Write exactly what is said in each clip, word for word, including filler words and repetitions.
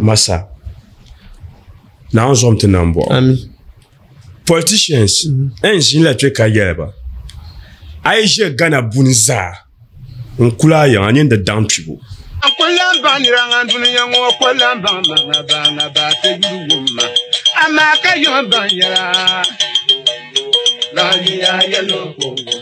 Masa Naawuni zom ti nambɔɣu. Ami. Politicians n ʒinila kpɛ ka yɛli ba a yi ʒe Ghana buni zaa n kuli a yiŋa nyin di daŋ kpibu. N ku lan baŋ nira ŋan dunia ŋɔ ku lan baŋ ma ŋa ba ŋa ba ti yuli wum ma, amaa ka yom baŋ yɛla. Lahiya yɛlo kongo.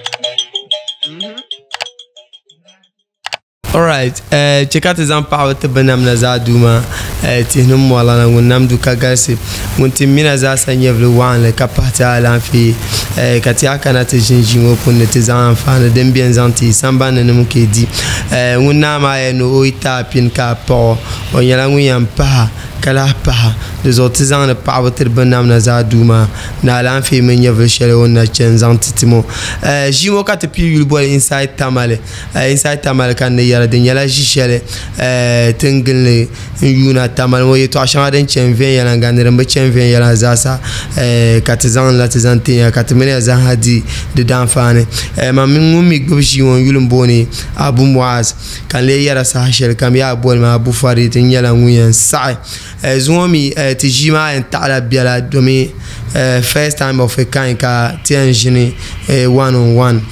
Alright, eh, chɛ ka ti zaŋ paɣaba ti binnamda zaa Duuma, eh, tihi ni mɔɣilana ŋun nam du ka galisi, ŋun ti mina zaasa nyɛvili waɣinli ka pahi ti alaafee, eh, ka ti a kana ti ʒini ʒii ŋɔ puuni ni ti zaŋ anfaani din beni zaŋ ti sambani ni nim ka di. Eh, ŋun naa maa yɛli ni o yi ti a pini ka a paɣ o, o nyɛla ŋun yɛn pahi ka lahi pahi. Di zuɣu ti zaŋdi paɣaba tiri binnamda zaa Duuma ni alaafee mini nyɛvili shɛli o ni na chani zaŋ ti ti ŋɔ. Eh, ʒii ŋɔ ka ti pii yuli boli Inside Tamale. Eh, Inside Tamale ka n ni yɛli di nyɛla ʒi shɛli, eh, ti ni gilli n yuuna Tamale ŋɔ yɛltɔɣa shɛŋa din chani viɛnyɛliŋga ni din bi chani viɛnyɛliŋga zaasa, eh, ka ti zaŋ la ti zaŋ ti ya ka ti mini ya zaaha di di daanfaani. Eh, man mini ŋun mi gbubi ʒii ŋɔ n yuli m-booni Abu Muaz ka n lee yɛra saha shɛli kam yaa boli ma Abu Farid n nyɛla ŋun yɛn saɣi. Eh, zuŋɔ mi, eh, ti ʒii maa yɛn taɣila biɛla domi, eh, first time of a kind ka ti yɛn ʒini, eh, one on one.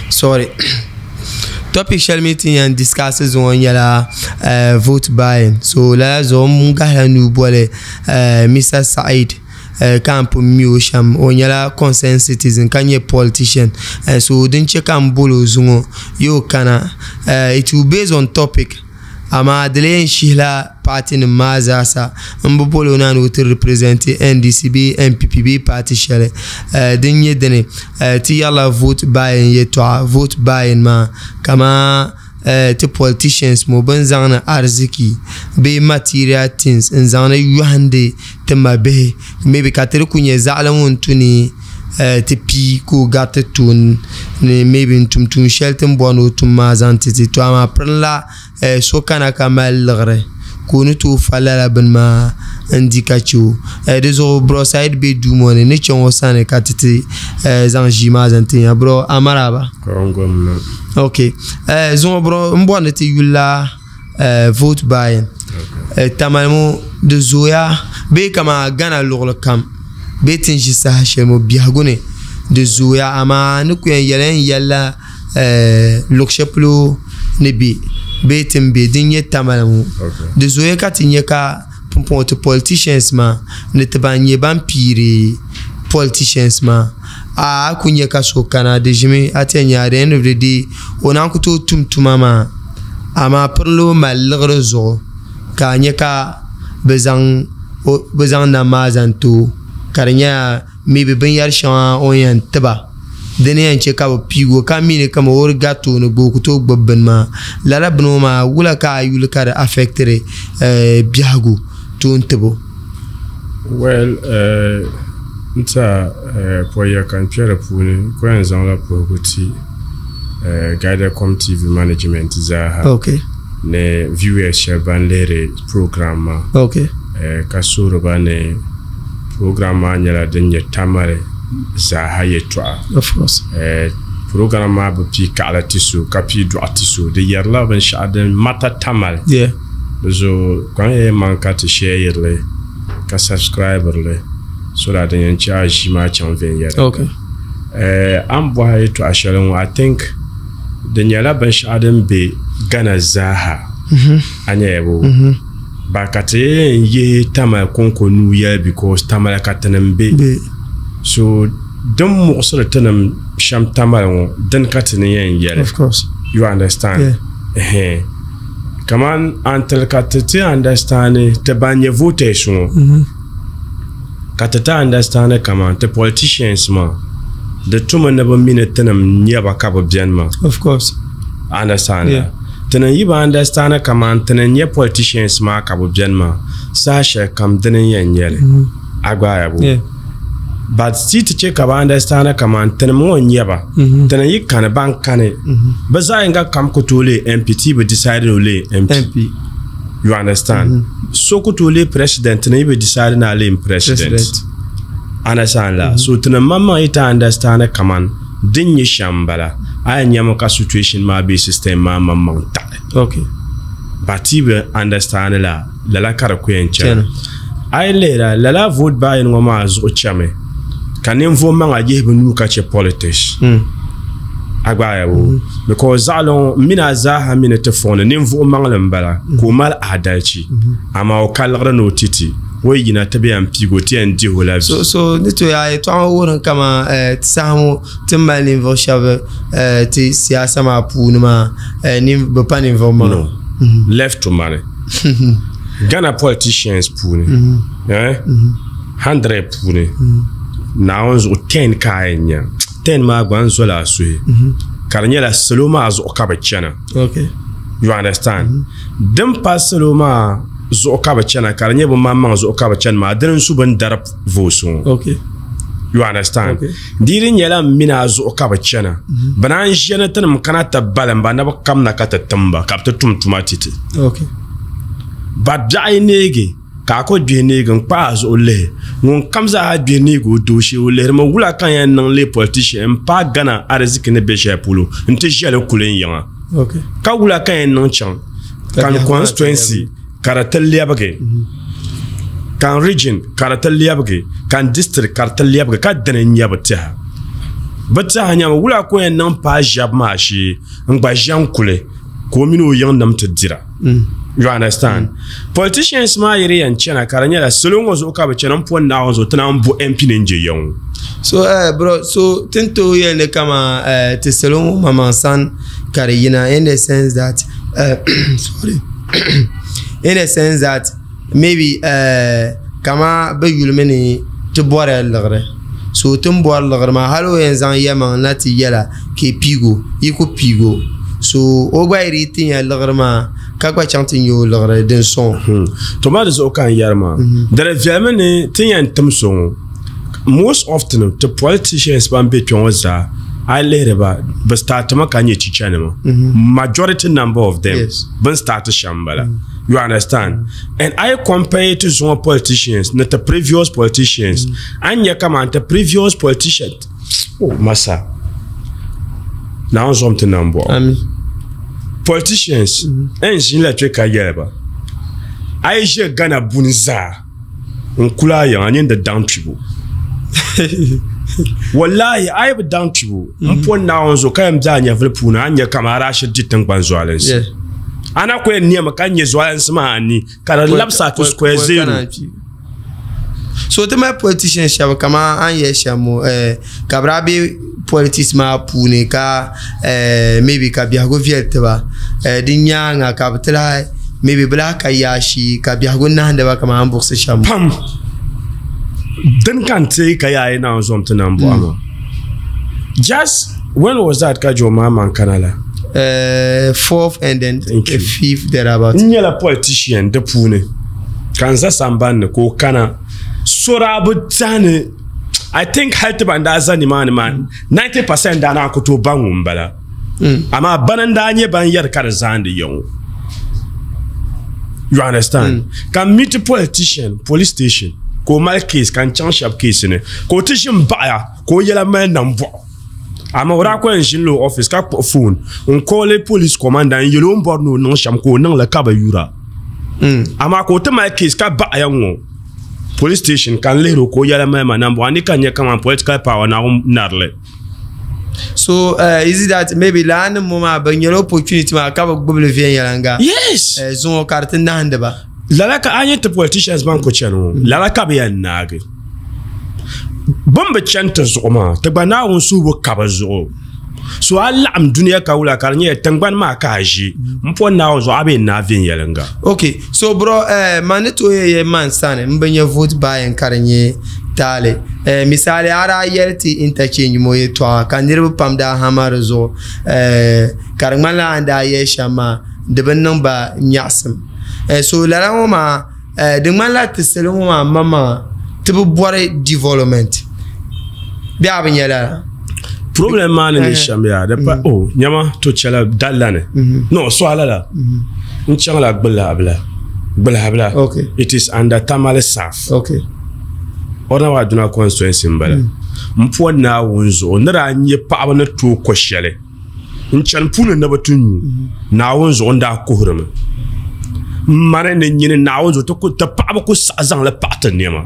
Sorry. Topic shɛli mi ti yɛn discuss zuŋɔ nyɛla, eh, vote buying. So lala zuɣu n gahila nuu boli, eh, Mister Said, eh, ka n pun mi o shɛm. O nyɛla concerned citizen ka nyɛ politician. Eh, so din che ka n boli o zuŋɔ yo kana. Eh, it will based on topic. Amaa di lee shihila party nim maa zaasa n bi boli o na ni o ti represent N D C bee N P P bee party shɛli. Eh, din nyɛ dini, eh, ti yɛrila vote buying yɛltɔɣa. Vote buying maa kaman, eh, ti politicians mo bin zaŋni ariziki bee material things n zaŋni yɔhindi ti mabihi. Maybe ka ti di ku nyɛ zaɣali ŋun tu ni, eh, ti pii ka o gariti tooni ni maybe n tum tuun shɛli ti ni bɔri ni o tum maa zaŋ ti ti. To amaa pirinla, eh, so kana ka mali liɣiri ka o ni tooi fa lala bini maa n di ka che o. Eh, di zuɣu bro Said be duu ŋɔ ni, ni chaŋ o sani ka ti ti, eh, zaŋ ʒii maa zaŋ ti nya. Bro, amaraba. Okay. Eh, zuŋɔ bro, n bɔri ni ti yulila, eh, vote buying. Okay. Eh, Tamale ŋɔ di zooya bee kaman Ghana luɣili kam bee ti ni ʒi saha shɛli ŋɔ biɛhigu ni di zooya, amaa ni ku yɛn yɛli n yɛlila, eh, luɣ shɛli polo ni be bee ti ni be din nyɛ Tamale ŋɔ. Okay. Di zooya ka ti nya ka pumpɔŋɔ ti politicians maa ni ti ban nyɛ ban piiri politicians maa, a, a ku nya ka so kana di ʒimi a ti yɛn nya at the end of the day o naan ku tooi tum tuma maa, amaa pirinla o mali liɣiri zuɣu ka a nya ka bɛ zaŋ o, bɛ zaŋ nam maa zaŋ ti o ka di nyɛla maybe binyɛri shɛŋa o ni yɛn tiba dini yɛn che ka bɛ piigi o ka mi ni kama o di gari tooni gba o ku tooi gbubi bini maa. Lala bini ŋɔ maa wula ka a yuli ka di affectiri, eh, biɛhigu toon tibo? Well, eh, n ta, eh, pɔya ka n kpɛ di puuni ku yɛn zaŋla puhigu ti, eh, Guidacom T V management zaaha. Okay. Ni viewers shɛba ban lihiri program maa. Okay. Eh, ka suhiri ba ni program maa nyɛla din nyɛ Tamale zaaha yɛltɔɣa. Of course. Eh, program maa bi pii kaɣala ti so ka pii dɔɣu ti so. Di yɛrila binshɛɣu din mata Tamale. Yeah. Di zuɣu kpaŋ ya maŋ ka ti share li ka subscribe li so that din yɛn che a ʒii maa chaŋ viɛnyɛla. Okay. Eh, a ni bɔhi yɛltɔɣa shɛli ŋɔ, I think di nyɛla binshɛɣu din be Ghana zaaha. Mm-hmm. A nya ya bo? Mm-hmm. Ba ka ti yɛn yihi Tamale kɔŋko nuu yɛli because Tamale ka tinim be. Be. So din muɣisiri tinim shɛm Tamale ŋɔ, din ka ti ni yɛn yɛli. Of course. You understand? Yeah. Ɛhɛn. Kaman until ka ti ti understand ti ban nyɛ voters ŋɔ. Mm-hmm. Ka ti ti understand kaman ti politicians maa, di tumi ni bi mi ni tinim nyɛba ka bi beni maa. Of course. Understand? Yeah. Tinim yi bi understand kaman tinim nyɛ politicians maa ka bi beni maa, saha shɛli kam dini n yɛn nyɛli. Mm-hmm. A gba ya bo? Yeah. But ti ti che ka bi understand kaman tinim ŋɔ nyɛba. Mm-hmm. Tinim yi kani ban kani. Mm-hmm. Bi zaɣ yinga kam ku tooi leei M P, ti bi decide ni o leei M P. M P. You understand? Mm-hmm. So ku tooi leei president, tinim yi bi decide ni a leei president. President. Understand la? Mm-hmm. So tinim maŋmaŋ yi ti understand kaman din nyɛ shɛm m-bala, a yɛn nyami ka situation maa bee system maa maŋmaŋ taɣi. Okay. But ti bi understand la lala ka di ku yɛn chana. A yi lihira lala vote buying ŋɔ maa zuɣu chami ka ninvuɣu maŋa yihi bi nuu ka chɛ politics. A gbaaya bo because zaɣali ŋɔ n mini a zaaha mi ni ti fɔŋ ni ninvuɣu maŋli n bala ka o mali adalchi amaa o ka liɣiri ni o titi o yina ti bi yɛn piigi o ti yɛn dihi o la vi. So so ni to yaa yɛltɔɣa ŋɔ wuhiri kama ti saha ŋɔ ti mali ninvuɣu shɛba ti siyaasa maa puuni maa bi pa ninvuɣu maŋa. No. Left to money. Ghana politicians puuni eh hundred puuni Naawuni zuɣu ten ka a yɛn nya ten maa gba n zola a suhi ka di nyɛla salo maa zuɣu ka bi chana. Okay. You understand? Din pa salo maa zuɣu ka bi chana ka di nyɛ bi maŋmaŋ zuɣu ka bi chani maa dini n su bin dari votes ŋɔ. Okay. You understand? Okay. Di di nyɛla n mini a zuɣu ka bi chana bi naan ʒiya ni tinim kana ti balim ba na bi kamna ka ti timba ka bi ti tum tuma titi. Okay. Ba biɛɣu yi neegi ka a ku gbihi neegi n kpaai a zuɣu lihi ŋun kam zaa gbihi neegi o dooshee o lihirimi wula ka yɛn niŋ lee politician n paai Ghana ariziki ni be shɛli polo n ti ʒɛli kuli n yiŋa. Okay. Ka wula ka yɛn niŋ chaŋ kan constituency ka di ti lɛbigi kan region ka di ti lɛbigi kan district ka di ti lɛbigi ka dini n nyɛ bi tiɛha bi tiɛha nyɛmi wula ka o yɛn niŋ paai ʒɛbu maa shee n gba ʒɛn kuli ka o mini o yiŋ nim ti dira. You understand? Mm. Politicians maa yiri yɛn chana ka di nyɛla salo ŋɔ zuɣu ka bi chana n pɔ Naawuni zuɣu ti naan bo M P ni n je ya ŋɔ. So eh bro, so tin to yɛli ni kama eh ti salo ŋɔ maŋmaŋ san ka di yina in the sense that uh, sorry in the sense that maybe uh, kama bi yulimi ni ti bɔrila liɣiri. So tin bɔri liɣiri maa hali o yɛn zaŋ yɛmaŋ na ti yɛla ka i piigo yi ku piigo so o gba yiri ti nya liɣiri maa ka gba chaŋ ti nya o liɣiri din sɔŋ. To maa di zuɣu ka n yɛri maa di di viɛlimi ni ti yɛn tim so ŋɔ most often ti politicians ban be kpɛ ŋɔ zaa a yi lihiri ba bi startimi ka nyɛ chichanima majority number of them bin start shɛm n bala. You understand? And I compare to zuŋɔ politicians ni ti previous politicians an nyɛ kaman ti previous politicians oh masa Naawuni zɔm ti nam bɔɣu. Amin. Politicians n ʒin la kpɛ ka yɛli ba a yi ʒe Ghana buni zaa n kuli a yiŋa nyin di daŋ kpibu. Wallahi a yi bi daŋ kpibu n pɔ Naawuni zuɣu ka yɛn bɛ a nyɛvili puuni a nyɛ kaman a daa shiri di tiŋgbani zualinsi. Ana ku yɛn nɛmi ka nyɛ zualinsi maa ni ka di labisa to square zero. So ti mali politicians shɛba kaman a ni yɛli shɛm ŋɔ eh ka bi daa be politics maa puuni ka eh maybe ka biɛhigu viɛli tiba eh di nyaanga ka bi ti lahi maybe bi lahi ka yaashee ka biɛhigu nahandi ba kaman a ni buɣisi shɛm. Pam din ka n teei ka yaa yi Naawuni zɔm ti nam bɔɣa maa. Just when was that ka John Mahama kana la? Uh, fourth and then fifth thereabout. N nyɛla politician di puuni ka n za sambanni ni ka o kana so daa bi tɛhi I think hali ti ban daa za nimaani maa ninety percent daa naan ku tooi baŋ ŋun bala. Amaa bana n daa nyɛ ban yɛri ka di zaandi ya ŋɔ. You understand? Ka n meet politician police station ka o mali case ka n chaŋ shɛba case ni ka o ti ʒi n baɣaya ka o yɛla mali nambɔɣu. Amaa o daa ku yɛn ʒini la o office ka kpuɣi phone n call police commander n yɛli o ni bɔri ni o niŋ shɛm ka o niŋli ka bi yura. Amaa ka o ti mali case ka baɣaya ŋɔ police station ka n lihiri o ka o yɛla mali ma nambɔɣu ni ka n nyɛ kaman political power Naawuni narili. So uh, is it that maybe laa nim ŋɔ maa bi nyɛla opportunity maa ka bi gbubili viɛnyɛliŋga? Yes. Uh, zuŋɔ ka di ti nahandi ba. Lala ka a nyɛ ti politicians ban ku chani ŋɔ lala ka bi yɛn naagi. Bin bi chani ti zuɣu maa ti gba Naawuni suhu bi ka bi zuɣu. So a laɣim dunia ka wula ka di nyɛla tingbani maa ka a ʒi n pɔ Naawuni zuɣu a bi yɛn naai viɛnyɛliŋga. Okay, so bro eh, man ni tooi yɛ man sani n bi nyɛ vote buying ka di nyɛ taali. Eh, misali a daa yɛli ti interchange mo yɛltɔɣa ka niriba pam daa hama di zuɣu eh, ka di ŋmanila a ni daa yɛli shɛm maa di bi niŋ ba nyaɣasim. Eh, so lala ŋɔ maa eh, di ŋmanila ti salo ŋɔ maa maŋmaŋa ti bi bɔri development bee a bi nyɛ lala? Problem maa ni ni shɛm yaa di pa oh nyama to chɛla dalla ni no so ala la n chaŋla Gbilabila Gbilabila. Okay. It is under Tamale South. Okay. Honorable Aduna constituency n bala. N pɔ Naawuni zuɣu ni daa nyɛ paɣaba ni tooi ko shɛli n chani puuni ni bi ti nyu Naawuni zuɣu n daa kuhirimi. Mani ni nyini Naawuni zuɣu ti ku ti paɣaba ku saɣi zaŋli paɣa ti nɛma.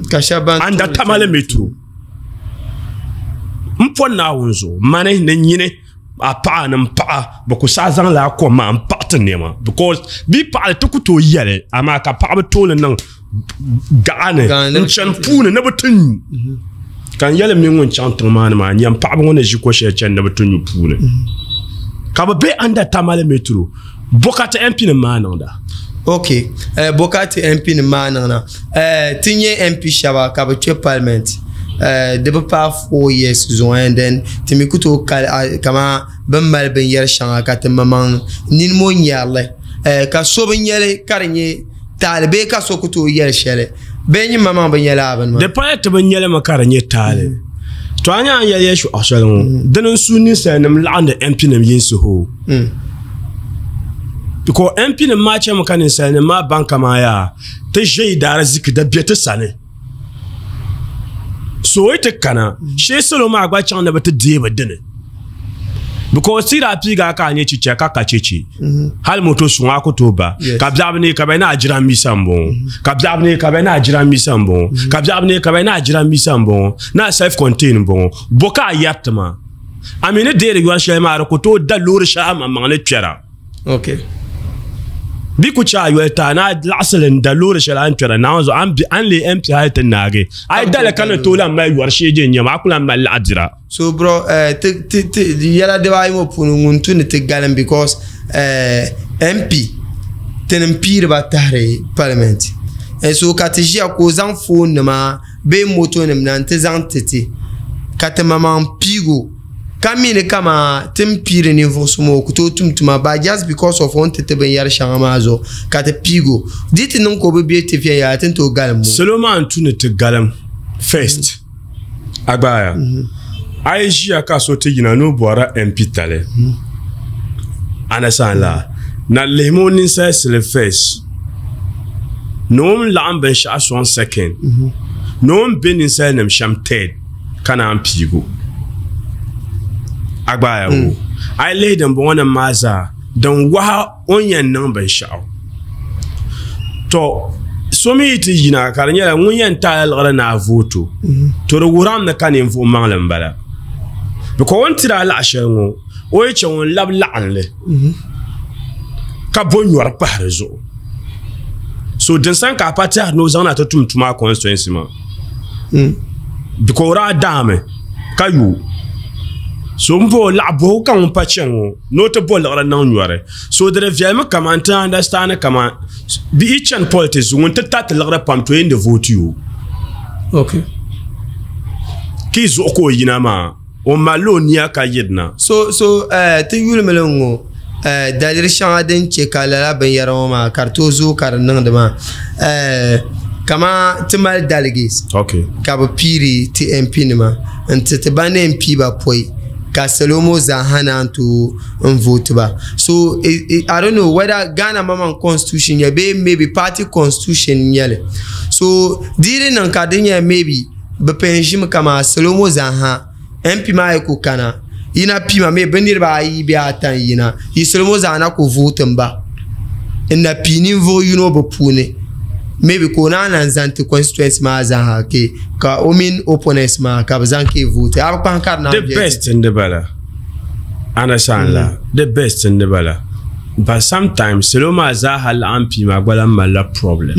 Ka shɛba ban Anda Tamale Metro. N po Naawuni zuɣu mani ni nyini a paɣa ni n paɣa bi ku saɣi zaŋla a kom maa n paɣa ti nɛma because bi paɣali ti ku tooi yɛli amaa ka paɣaba tooli niŋ gaɣa ni n chani puuni ni bi ti nyu. Ka n yɛli mi ŋun chaŋ tiŋ maa ni maa nyɛm paɣaba ŋɔ ni ʒi ko shɛli chani ni bi ti nyu puuni. Ka bi be under Tamale Metro Bokati M P nim maa niŋda. Okay, uh, Bokati M P nim maa niŋda. Uh, ti nyɛ M P shɛba ka bi kpɛ parliament. Uh, di bi paai four years zuɣu and then ti mi ku tooi kali uh, kama bin mali binyɛri shɛŋa ka ti maŋmaŋ nini ŋɔ nyɛrili. Uh, ka so bi nyɛli ka di nyɛ taali bee ka so ku tooi yɛli shɛli bee nyin maŋmaŋ bi nyɛla a bini maa. Di pala ti bi nyɛli mi ka di nyɛ taali. To a nyɛ a yɛli yɛltɔɣa shɛli ŋɔ dini n su ninsalinima laɣindi M P nim yinsi hoo. Because M P nim maa chɛmi ka ninsalinima maa baŋ kaman yaa ti ʒe daara ziki da bɛ ti sani. So o yi ti kana shee salo maa gba chaŋ ni bi ti deei bi dini. Because ti daa piiga ka a nyɛ chicha ka ka cheche. Hali moto suŋ a ku tooi ba. Ka biɛɣu ni ka bɛ na jiranbiisa n bɔŋɔ. Ka biɛɣu ni ka bɛ na jiranbiisa n bɔŋɔ. Ka biɛɣu ni ka bɛ na jiranbiisa n bɔŋɔ. Na self contained n bɔŋɔ. Bo ka a yɛri ti ma. A mi ni deeri yɔri shɛli maa di ku tooi da loori shɛli a maŋmaŋ ni kpɛra. Okay. Bi ku chɛ a yɔli taa na laɣasili n da loori shɛli a ni kpɛra Naawuni zuɣu a ni a ni leei M P hali ti naagi. A yi dali ka ni tooi lan mali yɔri shee je n nyɛma a ku lan mali laɣa dira. So bro, uh, ti ti ti yɛla dibaayi ŋɔ puuni ŋun tu ni ti galim because uh, M P tinim piiri ba tahiri parliament. And so ka ti ʒiya ka o zaŋ phone nima bee moto nim na n-ti zaŋ ti ti ka ti maŋmaŋ piigo ka mi ni kama ti ni piiri ninvuɣu so maa o ku tooi tum tuma but just because of o ni ti ti binyɛri shɛŋa maa zuɣu ka ti piigo di ti niŋ ka o bi be ti viɛnyɛla ti ni tooi galim o. Salo maa n tu ni ti galim first agbaaya a yi ʒiya ka so ti yina ni o bɔrila M P tali understand la na lihimi o ninsalisili first ni o ni laɣim binshaɣu sɔŋ second ni o ni be ninsalinim shɛm third ka naan piigo agbaaya wo a yi lihi dimbɔŋɔ nim maa zaa din waha o ni yɛn niŋ binshaɣu to so mi yi ti yina ka di nyɛla ŋun yɛn taala liɣiri ni a vooto to di wuhirami ni ka ninvuɣu maŋli n bala because o ni tiri a laɣa shɛli ŋɔ o yi chɛ ŋun labi laɣinli ka bo nyɔri pahi di zuɣu so din sani ka a pa tɛhiri ni o zaŋ na ti tum tuma a constituency maa because o daa daami ka yo so n bo laɣa bohigu ka ŋun pa chani ŋɔ ni o ti bo liɣiri niŋ nyɔri so di di viɛlimi kaman ti understand kaman bi yi chani politics ŋun ti tariti liɣiri pam to yɛn di vote yo. Okay. Ki zuɣu ka o yina maa o malila o nia ka yirina. So so uh, ti yulimi li ŋɔ uh, daliri shɛŋa din chɛ ka lala binyɛra ŋɔ maa ka di tooi zooi ka di niŋdi maa uh, kama ti mali delegates. Okay. Ka bi piiri ti M P nima n ti ti ban ni M P ba pɔi ka salo ŋɔ zaa ha naan tooi n vote ba. So it, it, I don't know whether Ghana maŋmaŋ constitution nyɛ bee maybe party constitution nyɛli. So di di niŋ ka di nyɛ maybe bi pɛn ʒimi kama salo ŋɔ zaa ha M P maa yi ku kana yina piima maybe bi niriba ayi bee ata n yina yi salo ŋɔ zaa na ku vote n ba n na pii ninvuɣu yino bi puuni maybe ka o naan lan zaŋ ti constituency maa zaa ha ke ka o mini opponents maa ka bi zaŋ ke vote a bi kpahi ka di naan The viɛli. best n di bala understand la the best n di bala but sometimes salo maa zaa ha laɣim pii maa gba lan malila problem.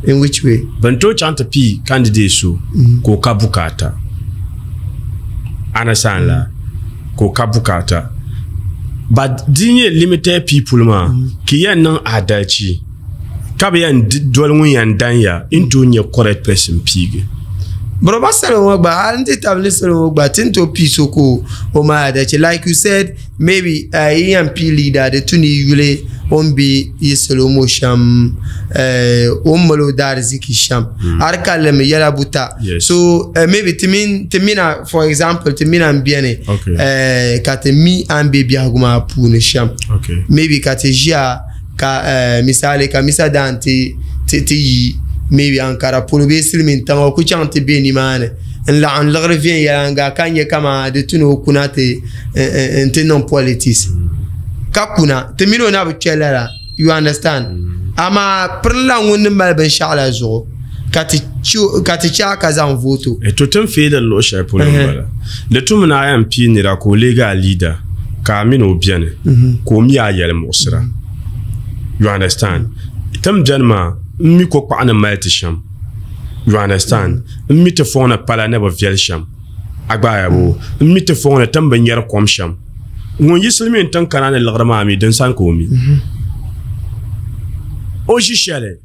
In which way? Ban tooi chaŋ ti pii candidate so ka o ka bukaata understand la ka o ka bukaata but di nyɛ limited people maa ki yɛn niŋ adalci ka bi yɛn doli ŋun yɛn dan ya n tooi nyɛ correct person piigi. Bro ba salo ŋɔ gba hali n ti tabili salo ŋɔ gba ti ni tooi pii so ka o mali adalci like you said maybe uh, yi yɛn pii leader di tu ni yuli o ni be yi salo ŋɔ shɛm uh, o ni mali o daariziki shɛm a di kalli mi yɛla buta. Yes. So uh, maybe ti min ti mina for example ti mina n beni Okay. uh, ka ti mi an be biɛhigu maa puuni shɛm. Okay. Maybe ka ti ʒiya ka uh, misali ka misa daan ti ti ti yi maybe Ankara polo bee silimiin tiŋa o ku chaŋ ti be nimaani n laɣim liɣiri viɛnyɛliŋga ka nyɛ kama di tu ni o kuna ti n ti niŋ politics ka kuna ti mini o na bi kpɛ lala You understand? Amaa pirila ŋun ni mali binshaɣu la zuɣu ka ti ka ti chɛ ka zaŋ voto. To tin feediri luɣu shɛli polo n bala. Di tum ni a yɛn pii nira ka o leegi a leader ka a mini o biɛni ka o mi a yɛli muɣisira. You understand? Tin biɛni maa n mi ko kpaɣu ni mali ti shɛm. You understand? N mi ti fɔŋ ni pala ni bi viɛli shɛm. A gbaaya boo. N mi ti fɔŋ ni tin bi nyɛri kom shɛm. Ŋun yi silimiin tiŋ kana ni liɣiri maa mi din sani ka o mi. O ʒi shɛli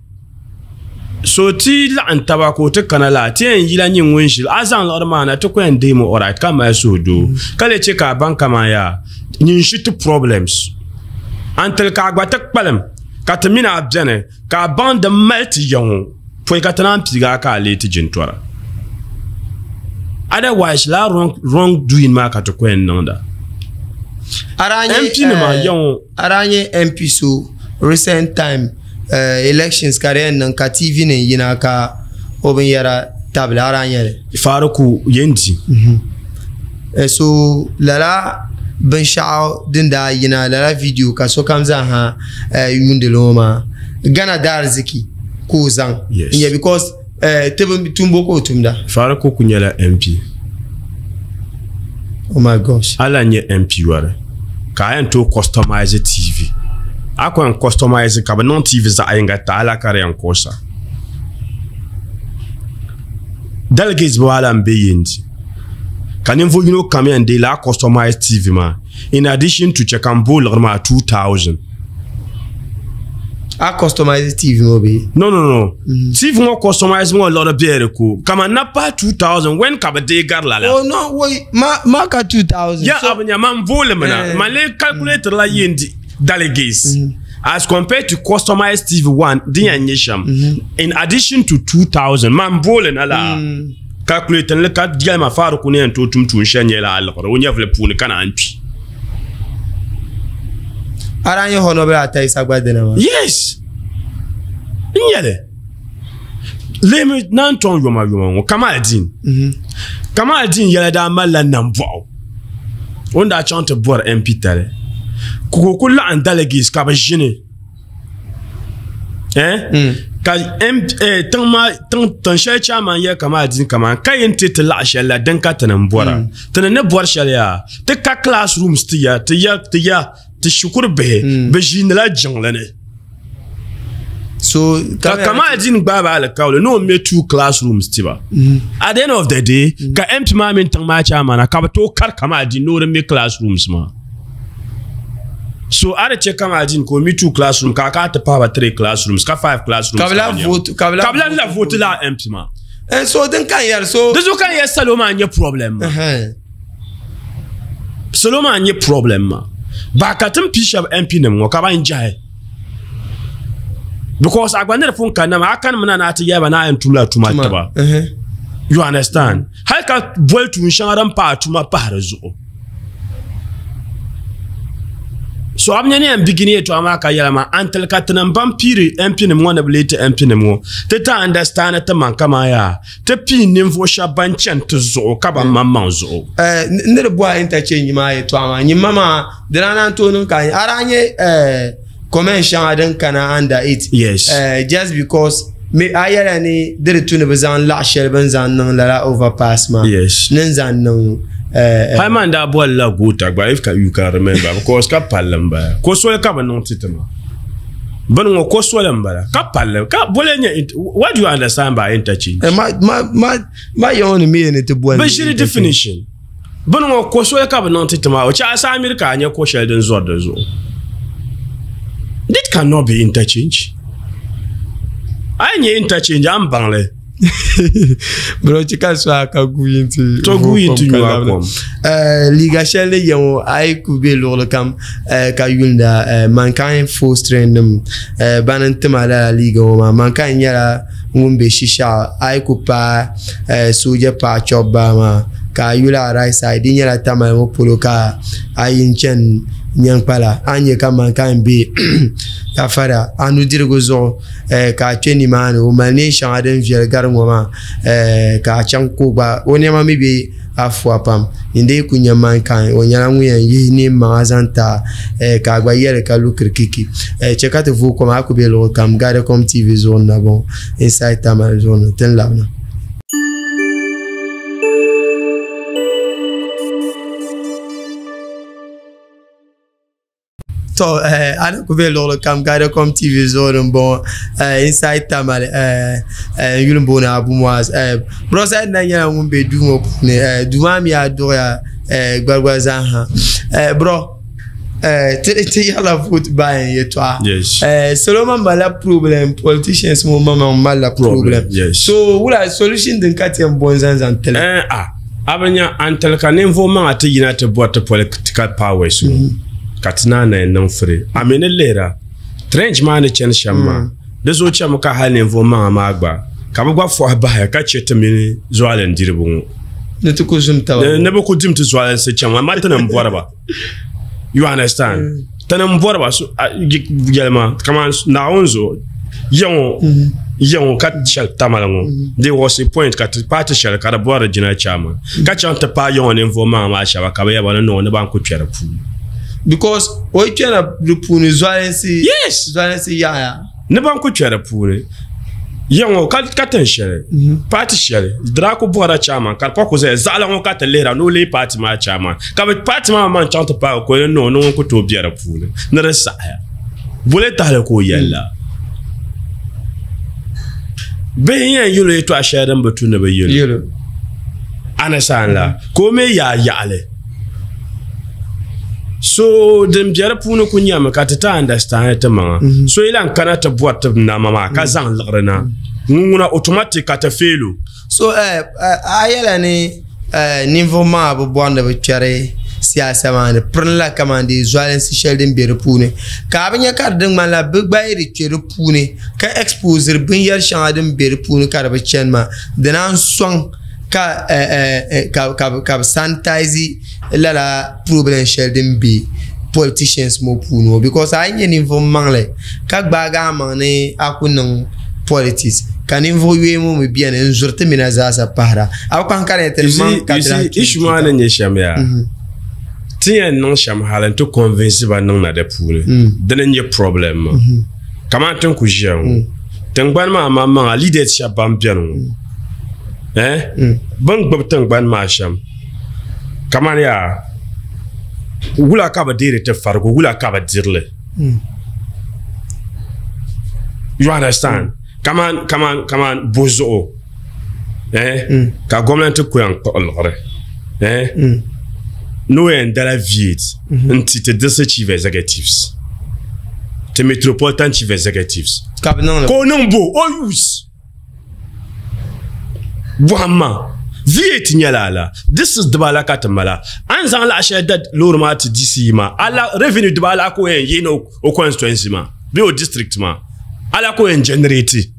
so ti laɣim taba ka o ti kana la ti yɛn yila nyɛ ŋun ʒili a zaŋ liɣiri maa na ti ku yɛn deemi alright ka mali suhudoo ka lee chɛ ka a baŋ kaman yaa nyin ʒi ti problems until ka a gba ti kpalim ka ti mini a biɛni ka a baŋ din mali ti ya ŋɔ pɔi ka ti naan piigi a ka a lee ti jintɔra. Otherwise laa wrong, wrong doing maa ka ti ku yɛn niŋda. M P nima ya ŋɔ. A daa nyɛ M P so recent time uh, elections ka di yɛn niŋ ka T V nim yina ka o binyɛra tabili a daa nyɛli. Faruku Yendi. Mm-hmm. So lala binshaɣu din daa yina lala video ka sokam zaa ha yuundili ŋɔ maa Ghana daariziki ka o zaŋ. Yes. N-nyɛ because tibi tumbo ka o tumda. Faruku ku nyɛla M P. Oh my gosh. Ala nyɛ M P wari ka a yɛn tooi customize T V. A ku yɛn customize ka bi niŋ T V zaɣ yinga ti ala ka di yɛn kuɣusa. Delegates bi ala n be Yendi. Ka ninvuɣ yino kam yɛn deei laa customize T V maa in addition to chɛ ka n booi liɣiri maa two thousand. A customize T V ŋɔ bee? No, no, no. Mm-hmm. T V ŋɔ customize ŋɔ liɣiri bee di ko. Kaman na pahi two thousand when ka bi deei gari lala. Oh no, wait, ma ma ka two thousand. Ya so, abu nya man booli mina. Man lee calculator la Yendi delegates. Mm-hmm. As compared to customized T V one, din yɛn nyɛ shɛm. In addition to two thousand, man booli na la. Mm. Calculator li ka yɛlima Faruku ni yɛn tooi tum tuun shɛli nyɛla a liɣiri o nyɛvili puuni ka naan kpi. A daa nyɛ Honorable Ataisa gba dina maa? Yes. N nyɛli. Lehimi naan tɔŋ yoma yoma ŋɔ Kamaldeen. Kamaldeen yɛla daa malila nambɔɣu. O ni daa chaŋ ti bɔri M P tali. Ka o ku laɣim delegates ka bi ʒini. Eh? Mm. Ka M eh, tiŋ maa tiŋ tiŋ shɛli chairman yɛ Kamaldeen kaman ka yɛn ti ti laɣa shɛli la din ka tini n bɔra. Tini ni bɔri shɛli yaa ti ka classrooms ti ya ti ya ti ya ti shikuru bihi bi ʒiinila jiŋli ni. So ka Kamaldeen gbaai ba alikauli ni o mɛ two classrooms tiba. At the end of the day ka M P maa mini tiŋ maa chairman ka bi tooi kari Kamaldeen ni o di mɛ classrooms maa. So a di chɛ Kamaldeen ka o mi two classroom ka a ka ti pahi ba three classrooms ka five classrooms. Ka bi la vote ka bi la vote la M P maa. Eh, so din kan yɛri so. Di zuɣu kan yɛ salo maa nyɛ problem maa. Salo maa nyɛ problem maa. Ba ka tin pii shɛba M P nim ŋɔ ka ban jahi. Because a gba ni di pun kanna maa a kani mi na ni a ti yɛli ba ni a yɛn tumla tuma tiba. You understand? Hali ka boli tuun shɛŋa din pahi tuma pahi di zuɣu. So a bi nya ni yɛn bigini yɛltɔɣa maa ka yɛla maa until ka tinim ban piiri M P nim ŋɔ ni bi lee ti M P nim ŋɔ ti ti understand ti maŋ kaman yaa ti pii ninvuɣu shɛba ban chani ti zuɣu ka ban maŋmaŋ zuɣu. N ni di bɔhi interchange maa yɛltɔɣa maa nyimma maa di daa naan tooi niŋ ka a daa nyɛ comment shɛŋa din kana under it. Yes. Uh, just because me a yɛla ni di di tu ni bi zaŋ laɣa shɛli bin zaŋ niŋ lala overpass maa. Yes. Ni n zaŋ niŋ. Hali daa bɔli la goota gba if you can remember because ka palli n bala ko soli ka bi niŋ ti ti ma bini ŋɔ ko soli n bala ka palli ka boli nyɛ what do you understand by interchange? Ma ma ma ma yɛn ni mi ni ti bɔli. Bi ʒiri definition bini ŋɔ ko soli ka bi niŋ ti ti ma o chɛ a saa miri ka a nyɛ ko shɛli din zɔri di zuɣu. This cannot be interchange. A yi nyɛ interchange a ni baŋ li. Bro, chika so aka gu inti to gu inti nyuwa kom. Eh liga shɛli yɛn ŋɔ a yi ku be luɣuli kam ka yuunda Mankind full strength nim bani n tima lala liiga ŋɔ maa. Mankind nyɛla ŋun be Shishaɣu a yi ku paai sooja paɣa chɔbu baa maa ka a yuli a right side di nyɛla Tamale ŋɔ polo ka a yi n chani Nyankpala a ni nyɛ ka Mankind be ka fara a nudirigu zuɣu ka a kpe nimaani o mali neen shɛŋa din viɛli gari ŋɔ maa ka a chaŋ ka o gba o nɛma mi be afuwa pam inde ku nya man kan o nyɛla ŋun yɛn yihi neen maŋa zaŋ ta ka a gba yɛli ka lu kirikiki chɛ ka ti vooi kom a ku be luɣuli kam Gadacom T V zuɣu na bɔŋɔ Inside Tamale zuɣu ni ti ni labina. To eh ana ku be luɣuli kam Gadacom T V zuɣu ni m-bɔŋɔ Inside Tamale eh eh yuli m-booni Abu Muaz eh bro Said na nyɛla ŋun be duu ŋɔ puuni eh duu maa mi a duɣiya eh gbarigbar zaa ha eh bro eh ti ti yɛrila vote buying yɛltɔɣa. Yes. Eh salo man malila problem, politicians ŋɔ maŋmaŋ malila problem. Yes. So wula solution din ka ti yɛn bo n-zaŋ zaŋ tili? Eh ah a bi nya an tali ka ninvuɣ maŋa ti yina ti bɔri ti political powers ŋɔ. Ka ti naan na niŋ free. A mi ni lihira trench maa ni chani shɛm maa di zuɣu chɛmi ka hali ninvuɣ maŋa maa gba ka bi gba fɔhi bahi ka chɛ ti mini zuɣalin diriba ŋɔ ni ti ku zum taba ni bi ku dim ti zuɣalinsi chɛŋ amaa ti ni bɔri ba. You understand? Ti ni bɔri ba yɛlima kaman Naawuni zuɣu yaŋɔ yaŋɔ ka shɛli Tamale ŋɔ there was a point ka ti paati shɛli ka di bɔri jina chairman ka chaŋ ti paai yaŋɔ ninvuɣ maŋa maa shɛba ka bi yɛba ni noo ni ban ku kpɛ di puuni. Because o yi kpɛna di puuni zualinsi. Yes. Zualinsi yaɣaya. Ni ban ku kpɛ di puuni yaŋɔ ka ka tin shɛli paati shɛli di daa ku bɔrila chairman ka di pa ku zaya zaɣila ŋɔ ka ti lihira ni o leei paati maa chairman ka bi paati maa man chaŋ ti paagi ka o ni noo ni ŋun ku tooi bɛ di puuni ni di saɣaya boli tahali ka o yɛlila bihi yɛn yɛlo yɛltɔɣa shɛli din bi tu ni bi yɛlo understand la ka o mi yaa yaɣali. So din bɛ di puuni ku nyɛmi ka ti ti understand ti maŋa so yi lan kana ti bɔri ti nama maa ka zaŋ liɣiri na ŋun ŋuna automatic ka ti fail o. So eh a yɛla ni eh ninvuɣ maŋa bi bɔri ni bi kpɛri siyaasa maa ni pirinla kaman di zualinsi shɛli din bɛ di puuni ka a bi nya ka di ŋmanila bi gba yi di kpɛ di puuni ka expose binyɛri shɛŋa din bɛ di puuni ka di bi chani maa di naan sɔŋ ka eh ka ka ka bi sanitize lala problem shɛli din bɛ politicians ŋɔ puuni ŋɔ because a yi nyɛ ninvuɣ maŋli ka gbaagi a maŋ ni a ku niŋ politics ka ninvuɣ yooi ŋɔ mi bɛni n zuri ti mina zaasa pahira a bi kpahi ka di ti maŋ ka ti lahi issue maa ni nyɛ shɛm yaa ti yɛn niŋ shɛm hali n ti convince ba niŋ na di puuni dini n nyɛ problem maa kamani tin ku ʒiya ŋɔ tingbani maa maŋmaŋa leaders shɛba ban bɛni ŋɔ eh bin gbubi tingbani maa shɛm kaman yaa wula ka bi deeri ti farigu wula ka bi dirili. You understand? Kaman kaman kaman buzuɣu eh ka gomnanti ku yɛn kpuɣi liɣiri eh no yɛn dala V eight n ti ti district chief executives ti metropolitan chief executives ka bi niŋli ka o niŋ bo o use bɔhimma V eight nyɛla ala this is dibala ka ti mala an zaŋ laɣa shɛli da loori maa ti D C maa ala revenue dibala ka o yɛn yihi na o constituency maa bee o district maa ala ka o yɛn generate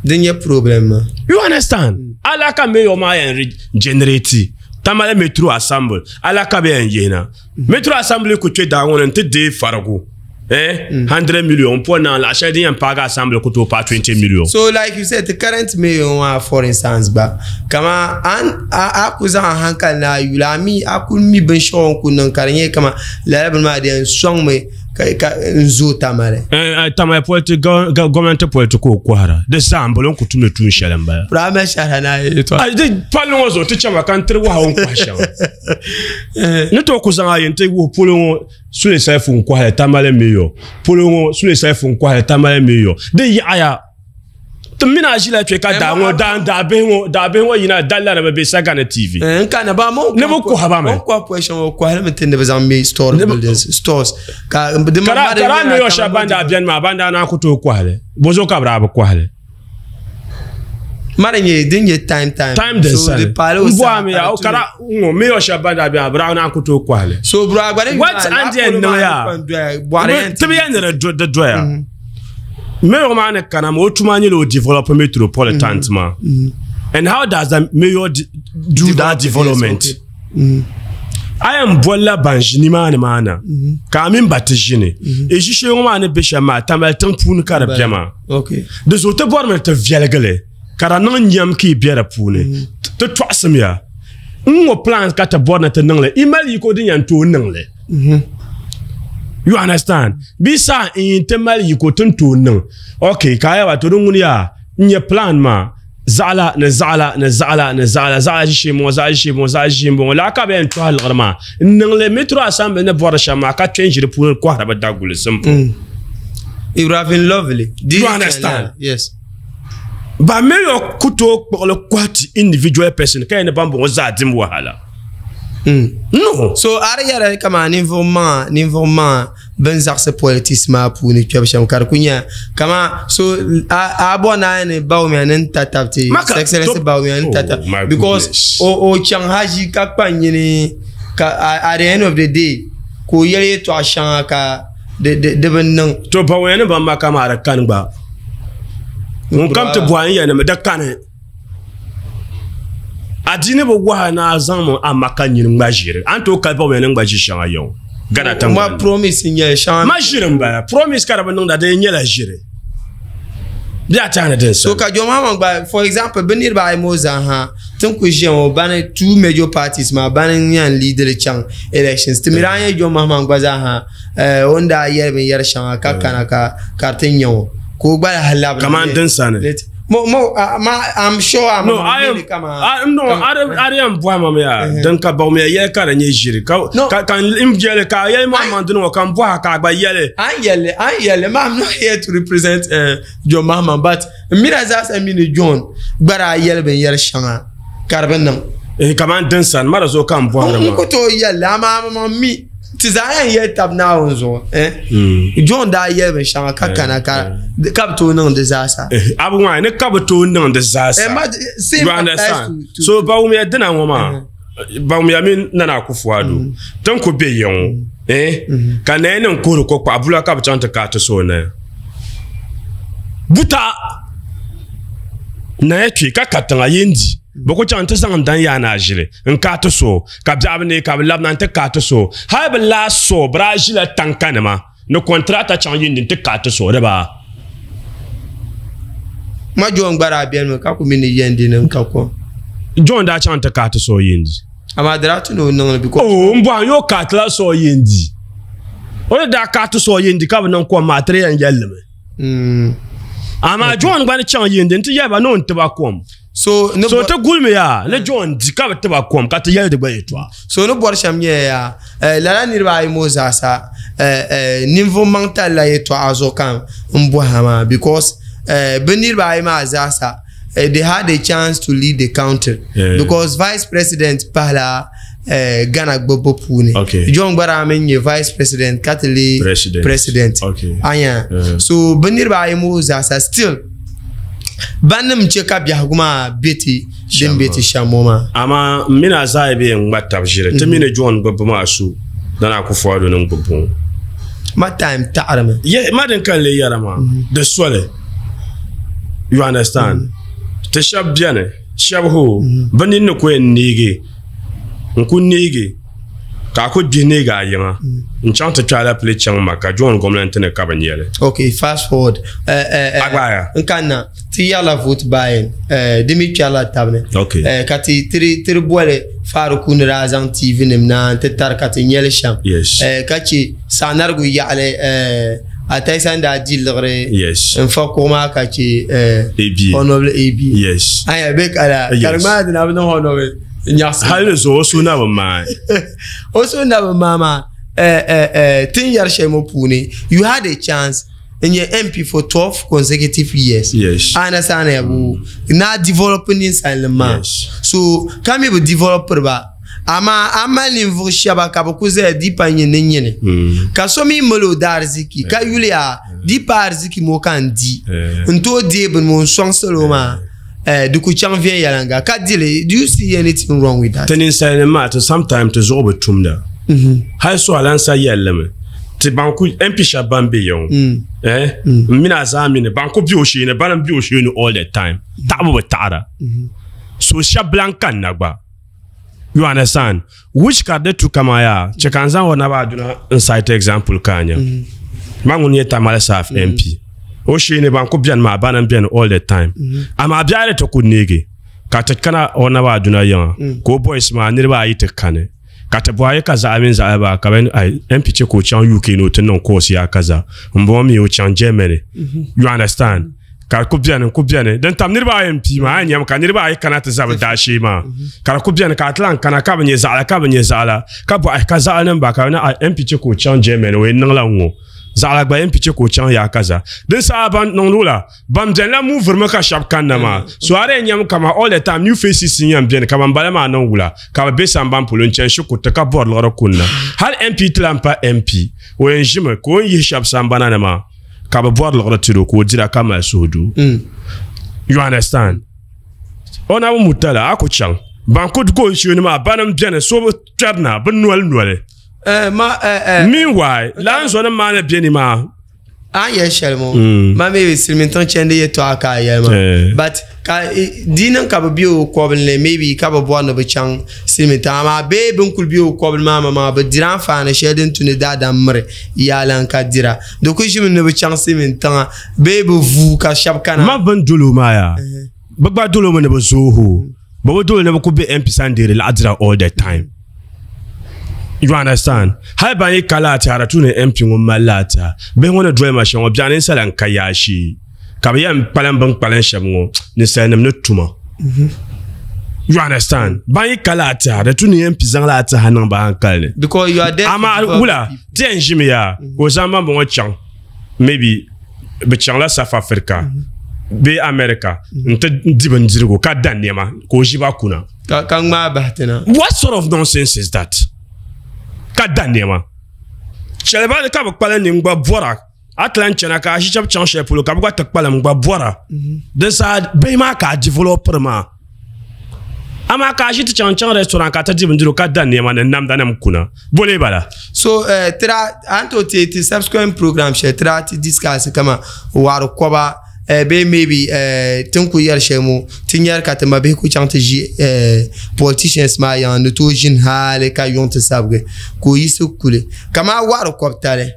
din nyɛ problem maa. You understand? Ala ka mayor maa yɛn generate Tamale metro assembly ala ka bɛ yɛn yihi na metro assembly ku kpɛ daa ŋɔ ni n ti deei farigu eh hundred million po na laɣa shɛli din yɛn paagi assembly ku tooi paai twenty million. So like you said the current mayor maa for instance gba kama an a ku zaŋ a hankali ni a yuli a mi a ku mi binshɛɣu n ku niŋ ka di nyɛ kama lala bini maa di yɛn sɔŋmi ka ka n zooi Tamale. Eh Tamale politi government political kɔhira di zaa n bolo n ku tumdi tuun shɛli n bala. Prime shɛhira na yɛltɔɣa. Ayi di palli ŋɔ zuɣu ti chɛma ka n tiri wahu n kɔhi shɛŋa ni tooi ku zaŋ a yi n ti wuhi polo ŋɔ Sule Saifu n kɔhili Tamale mayor polo ŋɔ Sule Saifu n kɔhili Tamale mayor di yaɣaya ti mini a ʒila kpɛ ka daa ŋɔ daa daa bihi ŋɔ daa bihi ŋɔ yina dalla ni bi bɛ Sagani T V. N kana ba mo ni bi kɔhi ba mi. O kɔhi pɔhi shɛŋa o kɔhili mi ti ni bi zaŋ mi store buildings stores ka di ma Kara kara mayor shɛba ban daa bɛni maa ban daa naan ku tooi kɔhili bozuɣu ka bi daa bi kɔhili. Mara nyɛ din nyɛ time time. Time din so sani. di paali o N bɔhi saha mi ka ya di kara ŋɔ mayor shɛba ban daa bɛni maa bi daa naan ku tooi kɔhili. So bro a gba ni What and then niŋ yaa ti bi yɛn ni di doya. Mayor maa ni kana ma o tuma nyɛla o develop metropolitan maa. And how does the mayor do that development? A yɛn bolila ban ʒi nimaani maa na ka a mini ba ti ʒini e ʒi shee ŋɔ maa ni bɛ shɛm maa Tamale tiŋ puuni ka di bɛ maa. Okay. Di zuɣu ti bɔrimi ti viɛlgili Ka di niŋ nyam ka i be di puuni. Ti tɔɣisimiya. N ŋɔ plans ka ti bɔri ni ti niŋli. I mali yiko din yɛn tooi niŋli. You understand? Bi sa n yi ti mali yiko tin tooi niŋ. Okay, ka a yaba to di ŋuni yaa n nyɛ plan maa zaɣala ni zaɣala ni zaɣala ni zaɣala zaɣala ʒishee bɔŋɔ zaɣala ʒishee bɔŋɔ zaɣala ʒishee bɔŋɔ laa ka bɛ yɛn tɔhi liɣiri maa n niŋli metro assembly ni bɔri shɛm maa ka kpɛ n ʒi di puuni kɔhiri bi daguli simple. Mm. It would have been lovely. Do you understand? Yes. Ba mayor ku tooi kpuɣili kɔhi ti individual person ka yɛn ni ban bɔŋɔ zaa dim wahala. Mm. No. So a di yɛra kama ninvuɣu maŋa ninvuɣu maŋa bin zaɣisi politics maa puuni kpɛbu shɛm ka di ku nyɛ kama so a a bɔ naa ni Bawumia ni n ta tabiti Maka, Excellency to- Bawumia ni ta Oh, tab my because goodness. o o chaŋ haji ka kpa nyini ka at the end of the day ka o yɛli yɛltɔɣa shɛŋa ka di di di bi niŋ. To Bawumia ni ban maka maa di kani gba. Ŋun kam ti bɔhi n yɛli mi di kani. Adiini bi wahi na a zaŋmi a maka nyini ŋma ʒiri. A ni tooi kali Bawumia ni ŋma ʒi shɛŋa yɛŋ. Ghana Ma tiŋgbani. promise n nyɛli shɛŋa. Ma ʒiri n bala. Promise ka di bi niŋda di nyɛla ʒiri. Bɛ a tɛhi ni din So sani. ka John Mahama gba for example bi niriba ayi moo zaa ha tin ku ʒiya ŋɔ bani two major parties maa bani n yɛn leadiri chaŋ elections ti mi daa nyɛ John Mahama gba zaa ha eh, o ni daa yɛli binyɛri shɛŋa ka kana ka ka di ti nyɛ ŋɔ ka o gba lahi labina Kaman din sani. Mo mo ah, ma I'm sure I'm No, I am kama I no, I I am bɔhi ma mi yaa. Din ka Bawumia yɛli ka di nyɛ ʒiri. Ka No. ka ka n yɛli ka a yɛli maa maŋ dini ŋɔ ka n bɔha ka a gba yɛli. An yɛli an yɛli ma I'm not here to represent uh, John Mahama but n mi na zaa sa mi ni John gba daa yɛli binyɛri shɛŋa ka di bi niŋ. Eh, kaman din sani ma di zuɣu ka n bɔhiri n ma. ku tooi yɛli amaa ma mi ti zaa yɛn yɛli tab Naawuni zuɣu eh? Mm. John daa yɛli binshɛŋa ka kana ka ka bi tooi niŋ di zaasa. Eh, abu ŋɔ ni ka bi tooi niŋ di zaasa. Eh, ma same You applies understand? to, to So Bawumia dina ŋɔ maa Bawumia mini Nana Akufo-Addo tin ku be ya ŋɔ eh ka naya nim kuhiri ko kpaɣa bula ka bi chaŋ ti kaati so naya buta naya kpe ka katiŋa yen di bi ku chaŋ ti zaŋ n dan yaa na ʒili n kaati so ka biɛɣu bi ne ka bi labina n ti kaati so hali bi last so bi daa ʒila tanka nima ni kɔntirata chaŋ yen di n ti kaati so di baa ma John gba daa beni mi ka ku mi ni yɛn di ni ka kom John daa chaŋ ti kaati so yen di amaa di daa tu ni o niŋli because oh n bɔhim yo kaatila so yen di o ni daa kaati so yen di ka bi niŋ kom maa tiri yɛn yɛlli mi mm. amaa John gba ni chaŋ yen di n ti yɛli ba ni o ni tiba kom so ni so bɔ- ti gulimi yaa ni John di ka bi tiba kom ka ti yɛli di gba yɛltɔɣa so ni bɔri shɛm nyɛla yaa eh, lala niriba ayi moo zaasa eh, eh, ninvuɣu maŋ talila yɛltɔɣa zuɣu kam n bɔha maa because eh, bi niriba ayi maa zaasa eh, they had a chance to lead the country Yeah. because vice president pahila eh, Ghana gbubbu puuni Okay. John gba daa min nyɛ vice president ka ti lee President. president Okay. anya Yeah. so bi niriba ayi moo zaasa still bannim chɛ ka biɛhigu maa be ti din be ti shɛm ŋɔ maa amaa n mini a zaa bɛ yɛn ŋma tab ʒiri ti mini John gbubbu maa su Nana Akufo-Addo ni gbubbu ŋɔ ma time taɣarimi ye ma din kan le yɛra maa di soli you understand ti shɛba bɛni shɛba ho bi nini ni ku yɛn neegi n ku neegi ka a ku gbihi neegi a yiŋa n chaŋ ti kpɛ alapile chaŋ ma ka John gomnanti ni ka bi nyɛli okay fast forward uh, uh, uh, Agbaya. n kanna ti yɛrila vote buying uh, di mi kpɛrila tabini Okay. uh, ka ti tiri tiri boli Faruku ni daa zaŋ tv nim na n ti tari ka ti nyɛli shɛm Yes. uh, ka chɛ saɣanarigu yaɣali uh, Ataisan daa di liɣiri Yes. n fa kuɣu maa ka chɛ uh, AB. honorable AB Yes. aya be kala Yes. ka di maa dina bi niŋ honorable nyaɣasim hali ni zuɣu o su na bi maai o so na bi maa maa eh, eh, eh, tin yɛri shɛli ŋɔ puuni you had a chance n nyɛ MP for twelve consecutive years Yes. ana sana yabu na develop ninsalinima maa Yes. so ka mi bi developiri ba amaa a mali ninvuɣu shɛba ka bi ku zaya di pa nyini nyini Mm. ka so mi mali o daariziki ka yuli a di pa ariziki ŋɔ ka n di Eh. n tooi deei bini ŋɔ n sɔŋ salo maa eh, di ku chaŋ viɛnyɛliŋga ka dili do you see anything wrong with that ti ninsalinima maa ti sometime ti zuɣu bi tumda hali so alansa yɛlli mi ti ban ku MP shɛba ban be ya ŋɔ eh n mini a zaa mini ban ku be o sheeni bana n be o sheeni all the time taɣabu bi taɣara so shɛba lan kanna gba you understand which ka di tu kama yaa chɛ ka n zaŋ o naba aduna n cite example ka a nya ma ŋuni nyɛ Tamale South MP O sheeni ban ku biɛni maa bana n biɛni all the time. Amaa biɛhi di ti ku neegi ka ti kana o naba aduna yiŋa ka o boys maa niriba ayi ti kani ka ti bɔhi ka zaɣa mini zaɣa baa ka bɛ M P che ka o chaŋ U K ni o ti niŋ course yaa kaza n bɔŋɔ mi o chaŋ Germany. You understand? Ka ku biɛni ku biɛni din tam niriba ayi n pii maa a nyɛmi ka niriba ayi kana ti za bi daashee maa ka di ku biɛni ka a ti lan kana ka bi nyɛ zaɣala ka bi nyɛ zaɣala ka bɔhi ka zaɣali nim ba ka bi na M P che ka o chaŋ Germany o yɛn niŋla ŋ-ŋɔ zaɣala gba M P che ka o chaŋ yaa kaza din saha ban niŋdi la ban biɛni la muvirimi ka shɛba kanna maa so a di yɛn nyɛmi kama all the time new faces n yɛn biɛni ka ban bala maa niŋ wula ka bi be samban polo n chani shikuruti ka bɔri liɣiri kunna hali M P ti lan pa M P o yɛn ʒimi ka o ni yihi shɛba sambana ni maa ka bi bɔri liɣiri tiri o ka o dira ka mali suhudoo. You understand? O na bi mutala a ku chaŋ ban ku go sheeni maa bani n biɛni so bi kpɛrina bi noli noli. Meanwhile, lan zɔnim maa ni bɛ ni maa. An yɛli shɛli ŋɔ ma maybe silimiin tiŋ chandi yɛltɔɣa ka a yɛli maa but ka di niŋ ka bi bɛ o kɔbili ni maybe ka bi bɔri ni bi chaŋ silimiin tiŋ amaa bee bin kuli bɛ o kɔbili maa maa bi dira anfaani shɛli din tu ni daadam miri yaalan ka dira di ku ʒimi ni bi chaŋ silimiin tiŋa bee bi vuu ka shɛba kana. Ma bin doli o maa yaa bi gba doli o mi ni bi zooi o bi bi doli ni bi ku bɛ M P sani deeri laɣa dira all the time. You understand? Hali ban yi ka laati a tu ni M P ŋun mali laati bihi ŋɔ ni doli ma shɛm ŋɔ biɛɣu ninsala n ka yaashee ka bi yɛn kpalim bin kpalim shɛm ŋɔ ninsalinima ni tuma. You understand? Ban yi ka laati a tu ni M P zaŋ laati ha niŋ ba hankali ni. Because you are there. Amaa wula ti yɛn ʒimi yaa ka o zaŋ ban bɔŋɔ chaŋ maybe bi chaŋla South Africa bee America n ti di bindirigu ka da nɛma ka o ʒi ba kuna. Ka ka ŋmaa bahi ti na. What sort of nonsense is that? Ka da nɛma shɛli ka bi kpalim ni gba bɔra a ti lan chana ka a ʒi shɛba chaŋ shɛli polo ka bi gba ti kpalim gba bɔra din saha bihi maa ka a developiri maa amaa ka a ʒi ti chaŋ chaŋ restaurant ka ti di bindirigu ka da nɛma ni namda nim kuna bole bala. So tira an to ti ti subsequent program shɛli tira ti discuss kama wari kɔba bee maybe tin ku yɛri shɛli ŋɔ ti nyɛri ka ti ma bihi ku chaŋ ti ʒi politicians maa yiŋa ni tooi ʒini hali ka yuŋ ti sabigi ka o yiɣisi kuli kaman waɣari kɔbitali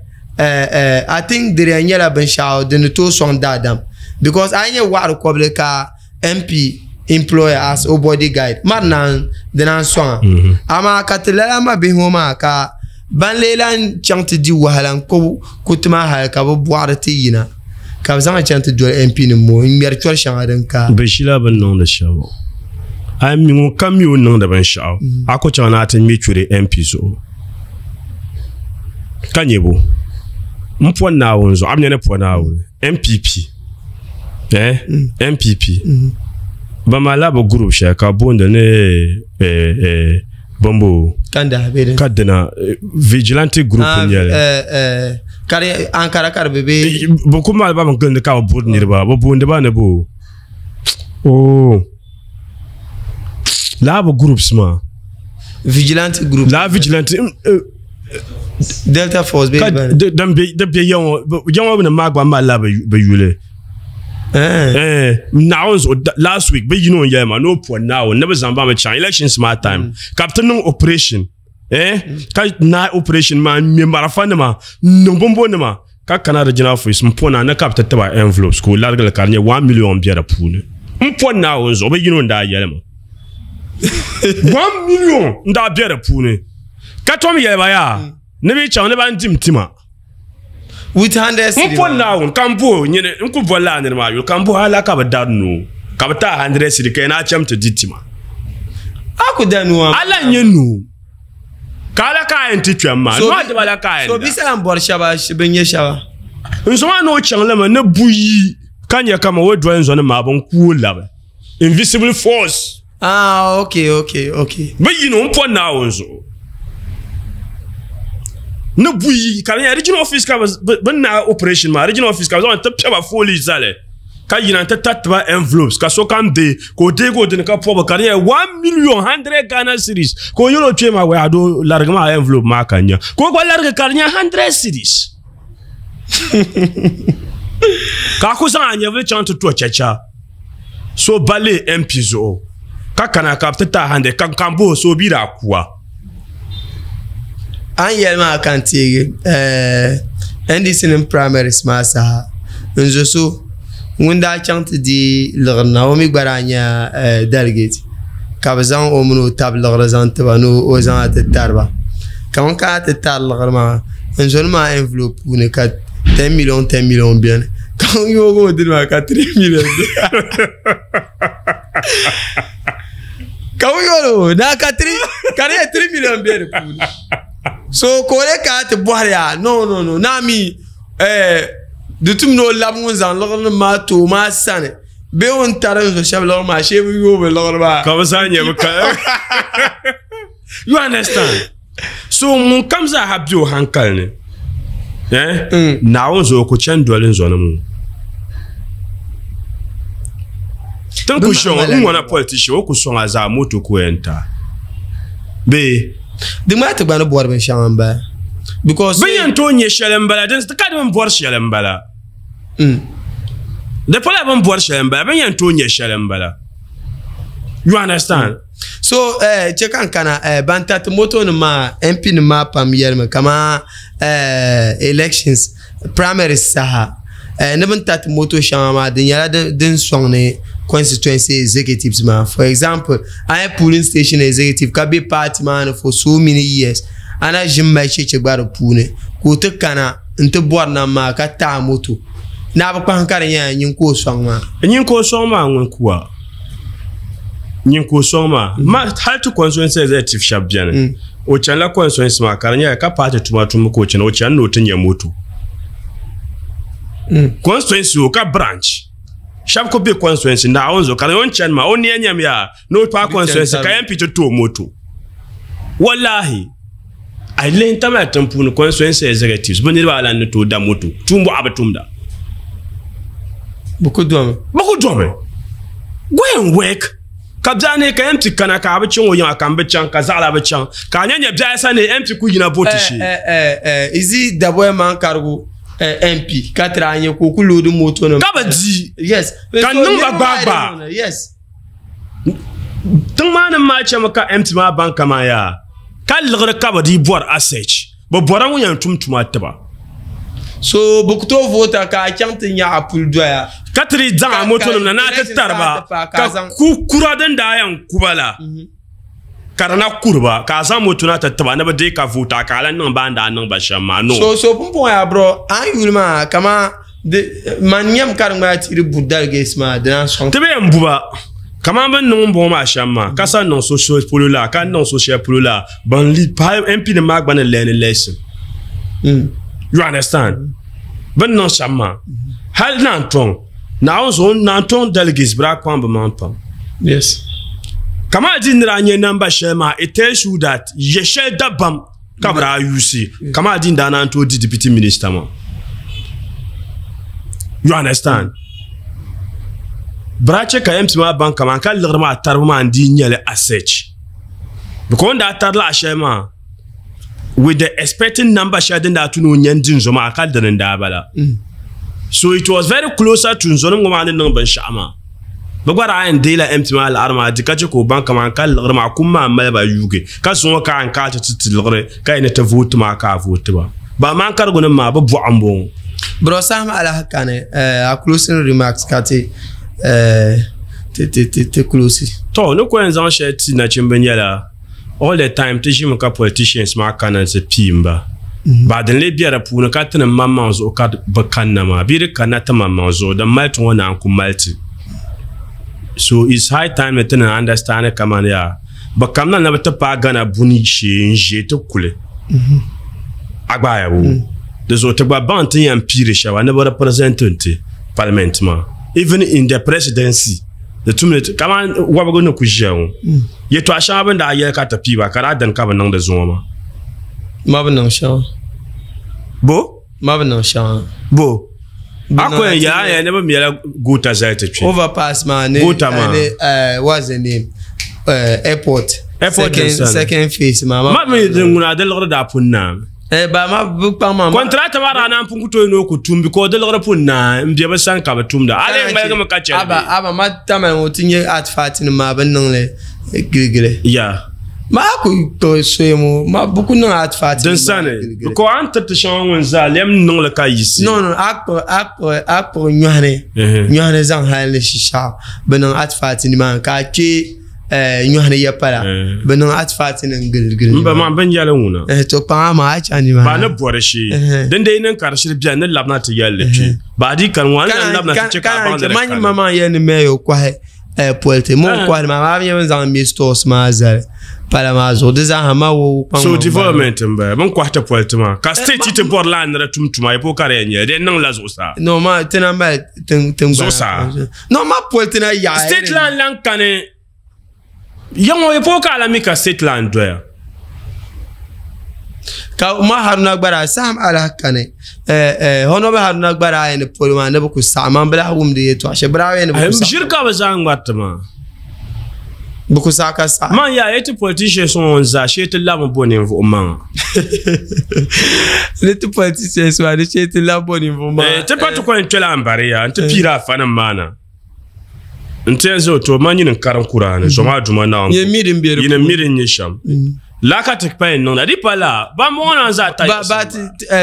I think di yɛn nyɛla binshaɣu din ni tooi sɔŋ daadam because a yi nyɛ waɣari kɔbili ka M P employer as o bodyguard mari naan di naan sɔŋa amaa ka ti lala ma bihi ŋɔ maa ka ban lee lan chaŋ ti di wahala n ku kuti maa hali ka bi bɔɣiri ti yina ka bi zaŋ chaŋ ti doli M P nim ŋɔ n ŋmɛri chɔri shɛŋa din ka. Bi ʒila bin niŋdi shɛm a mi ŋun kam mi o niŋdi binshaɣu a ku chaŋ ni a ti ŋmɛ churi M P zuɣu ka nyɛ bo n po Naawuni zuɣu a bi nyɛ ni po Naawuni M P P eh M P P ba malila bi group shɛli ka booni ni eh bombo ka dina vigilante group n nyɛli kari Ankara kari bi be bi ku mali ba bin gilindi ka bi bori niriba bi booni ba ni bo oh laa bi groups maa vigilante group laa vigilante Delta Force be din be di be yaŋɔ yaŋɔ ni maa gba malila bi yuli eh Naawuni zuɣu last week bi yino n yɛli ma ni o po Naawuni ni bi zaŋ ba mi chaŋ elections maa time ka bi ti niŋ operation eh ka naai operation maa n ŋmɛ marafa nima n niŋ binbo nima ka kana regional office n po na ni ka bi ti tiba envelopes ka o larigili ka di nyɛ one million bɛ di puuni n po Naawuni zuɣu bi yino n daa yɛli ma one million n daa bɛ di puuni ka tom yɛli ba yaa ni bi chaŋ ni ban dim tima with hundred n po Naawuni ka n bo nyini n ku boli laa niri maa yuli ka n bo hala ka bi dari noo ka bi taai hundred cedi ka yɛn a cham ti di tima a ku da noo ala n nyɛ noo ka ala ka a yɛn ti kpɛm maa noo diba la ka a yɛn so da bi salam bɔri shɛba bin nyɛ shɛba n zo maa ni o chaŋ limi ni buyi ka nyɛ kama o doli n zo ni maa bin ku o labi invisible force. Ah, okay, okay, okay. Bi yino n po Naawuni zuɣu ni buyi ka di nyɛ regional office ka bi naai operation maa regional office ka bi zaŋ ti piɛba fooli zali ka yina n ti tariti ba envelopes ka sokam deei ka o deegi o dini ka pɔbi ka di nyɛ one million hundred Ghana cedis ka o yɛli o kpee maa wai a doo larigi maa envelope maa ka n nya ka o gba larigi ka di nyɛ hundred cedis ka a ku zaŋ a nyɛvili chaŋ ti to chacha so ba lee M P zuɣu ka kana ka bi ti taai hundred ka n boho so o bi daa kuwa. An yɛli maa ka n teegi N D C nim primaries maa saha N zo so ŋun daa chaŋ ti di liɣiri na o mi gba daa nyɛla delegate ka bi zaŋ o mini o tabi liɣiri zaŋ tiba ni o zaŋ ti tariba ka ŋun kana ti tari liɣiri maa n zoni maa envelope puuni ka ten million ten million biɛni ka ŋun yoogi o dini maa ka three million biɛni ka ŋun yooli o na ka three ka di nyɛ three million bɛ di puuni so ka o le kana ti bɔhiri ya no no no naa mi eh, di tum ni o labi ŋun zaŋ liɣiri nim maa ti o maa sani bee o ni tari n zo shɛba liɣiri maa shee bi yooi bi liɣiri maa ka bi zaa nyɛ bi ka you understand so ŋun kam zaa ha bɛ o hankali ni eh Mm. Naawuni zuɣu ku chani doli n zɔnim ŋɔ tin ku Bi shɔŋ maŋ n ŋɔna politician o ku sɔŋ a zaa moto ku yɛn ta bee di ŋmaa ti gba ni bɔri binshɛŋa n bala because bin yɛn tooi nyɛ shɛli n bala din ka di bin bɔri shɛli n bala Mm. di pala bin bɔri shɛli n bala bin yɛn tooi nyɛ shɛli n bala you understand so eh, che ka n kana eh, ban tati moto nim maa M P nim maa pam yɛlimi kama eh, elections primaries saha eh, ni bin tati moto shɛŋa maa di nyɛla din, din sɔŋni constituency executives maa. For example, a nyɛ polling station executive ka be party maa ni for so many years ana ʒini mali cheche gba di puuni ka o ti kana n ti bɔri nam maa ka taa moto naa bi kpahim ka di nyɛla nyin ka o sɔŋ maa. Nyin ka o sɔŋ maa ŋun kuwa nyin ka o sɔŋ maa ma hali ti constituency executive shɛba bɛni o chanila constituency maa ka di nyɛla ka party tuma tumbu ka o chana o chani ni o ti nyɛ moto constituency o ka branch shɛba ku be constituency Naawuni zuɣu ka di o ni chani maa o niya nyam yaa ni o paai constituency ka M P ti tooi moto wallahi a lihi tamali tiŋ puuni constituency executives bi niriba alan ni tooi da moto tuumbuɣa bi tumda bi ku domi bi ku domi go and work ka biɛɣu ni ka M P kana ka a bi chaŋ o yiŋa ka n bi chaŋ ka zaɣala bi chaŋ ka a nya nyɛ biɛɣu sa ni M P ku yina vooti shee eh eh eh izi daboya man karigu eh, M P ka tiri a nyɛ ka o ku loodi moto nim ka bi di yes ka niŋ ba gbaagba yes tiŋ maa nim maa chɛmi ka M P maa baŋ kaman yaa ka liɣiri ka bi dii bɔri asset bi bɔra ŋun yɛn tum tuma tiba so bi ku tooi voota ka a chaŋ ti nyaɣa puli doya ka ti di zaŋ a moto nim na na ti tariba ka ku kura din daa yɛn kuba la ka di na kuriba ka a zaŋ moto na ti tiba ni bi deei ka voota ka a lan niŋ ba n daa niŋ ba shɛm maa no so so pumpɔŋɔ yaa bro an yuli maa kama di man nyɛm ka di ŋmaya ti di bu delegates maa di naan sɔŋ ti bi yɛn buba kaman bin niŋ bɔŋɔ maa shɛm maa ka sa niŋ so shɛli polo la ka niŋ so shɛli polo la ban li pahi M P nim maa gba ni learn lesson you understand bin niŋ shɛm maa hali naan tɔŋ Naawuni zuɣu naan tɔŋ delegates bi daa kpaŋ bi maŋ pam yes kama di nira nyɛ namba shɛli maa it tells you that yɛ shɛli dabam ka bi daa yuusi kama di daa naan tooi di deputy minister maa you understand bira che ka M P maa baŋ kaman ka liɣiri maa taribu maa n dii nyɛli asset because n daa tari laɣa shɛli maa with the expecting number shɛli din daa tu ni o nyɛ n di n zo maa ka dini n daa bala so it was very closer to n zonim ŋɔ maa ni niŋ binshaɣu maa bi gba daa yɛn deela M P maa liɣiri maa di ka che ka o baŋ kaman ka liɣiri maa kum maa mali ba yuugi ka zuŋɔ ka n ka ti ti ti liɣiri ka yɛn ni ti vooti maa ka a vooti ba ba maa karigu nim maa bi bɔɣu n bɔŋɔ bro saham alaha kani eh, a closing remarks ka ti eh, ti ti ti ti close to ni ko yɛn zaŋ shɛli ti nachimbi nyɛla all the time ti ʒimi ka politicians maa kana ti piimba ba din lee bɛ di puuni ka ti ni maŋmaŋ zuɣu ka bi kanna maa bee di kanna ti maŋmaŋ zuɣu din mali ti ŋɔ naan ku mali ti so it's high time ni ti ni understand kaman yaa bi kamina na bi ti paai Ghana buni shee n ʒee ti kuli a gbaaya bo di zuɣu ti gba baŋ ti yɛn piiri shɛba ni bi represent ti parliament maa even in the presidency di tumdi kaman wabigu ni ku ʒiya ŋɔ yɛltɔɣa shɛŋa bin daa yɛli ka ti piiba ka daa dini ka bi niŋdi zuŋɔ maa ma bi niŋ shɛŋa bo ma bi niŋ shɛŋa bo a ko yɛn yɛla yɛn ni bi mɛla goota zali ti kpɛ overpass maa ni Goota maa. ni eh, what's the name eh, airport Airport second, din sani. second phase maa ma mi din ŋuna di liɣiri daa pun naami eh, ba ma bi kpaŋ maa kɔntirata maa daa naan pun ku tooi ni o ku tum because di liɣiri pun naai n bɛ bi sani ka bi tumda a lee ŋmaligimi ka chɛli aba aba ma tamali ŋɔ ti nyɛ artifact nim maa bi niŋli giligili ya Ma ku to soyemo ma buku niŋ advert din sani because an tiriti shɛŋa ŋun zaa lɛm niŋli ka yisi. No no a kpuɣi a kpuɣi a kpuɣi nyɔhini nyɔhini zaŋ hali ni shishaɣu bi niŋ advert ni maa ka a kpe nyɔhini ya pala bi niŋ advert ni gili gili. N ba maa bin yɛli ŋuna. To kpaŋa maa a chaŋ ni maa. Ba ni bɔri shee din dee niŋ ka di shiri biɛni ni labina ti yɛlli kpe ba di kani ŋɔ an lan labina ti che ka a baŋ ni di kani. Ma maa yɛli ni mɛyo kɔhi politi mo kɔhiri maa maa nyɛ bin zaŋ mi stores maa zali pala maa zuɣu di zaaha ma wo kpaŋ. So development n bala bin kɔhi ti politi maa ka state ti bɔri laa ni di tum tuma yi po ka di yɛn nyɛli di yɛn niŋla zuɣusaa. No ma ti na mali tiŋgbana zuɣusaa. No ma politi na yaɣa state lan lan kani yaŋɔ yi po ka a la mi ka state lan doya. Ka ma Haruna Gbara saham alahi kani Honorable Haruna Gbara ayi ni polo maa ni bi ku saɣam man bi lahi wumdi yɛltɔɣa shɛli bi daa yɛn ni bi ku saɣam. Ʒiri ka bi zaŋ ŋmariti maa. Bi ku saɣa ka saɣam. Man yaa ti politicians ŋɔ zaa shee ti labi bo ninvuɣu maŋa. Ni ti politicians maa ni shee ti labi bo ninvuɣu maŋa. Ti pa ti ko n kpɛla n bari ya n ti piira afa nim maa na. N ti yɛn zaŋ to ma nyini n karim Kuraani zoma aduma Naawuni. Yini mi din bɛ di puuni. Yini mi din nyɛ shɛm. Laka ti pa niŋda di pa la ba mɔɣu na zaa ta. Ba ba ti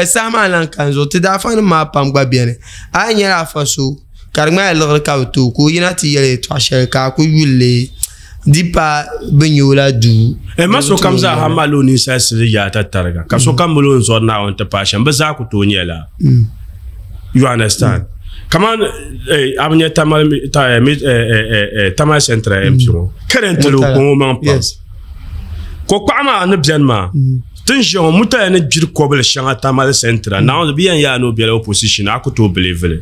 saha maa lan kan zuɣu ti daafa nim maa pam gba biɛni a yi nyɛla afa so ka di ŋmaya liɣiri ka bi tooi ka o yina ti yɛli yɛltɔɣa shɛli ka a ku yulli di pa bi nyɛ o la duu. Ma sokam zaa ha mali o ninsal sili yaata tariga ka sokam mali o ni zɔri Naawuni ti paai shɛm bi zaa ku tooi nyɛla. You understand? Kaman a bi nyɛ Tamale Tamale Central M P ŋɔ currently o kpaŋ o maŋ pam. Ko kpaɣa maa ni biɛni maa tin ʒiya ŋɔ mutaya ni gbiri kobili shɛŋa Tamale Central Naawuni bi yɛn yaa ni o biɛla opposition a ku tooi believe li.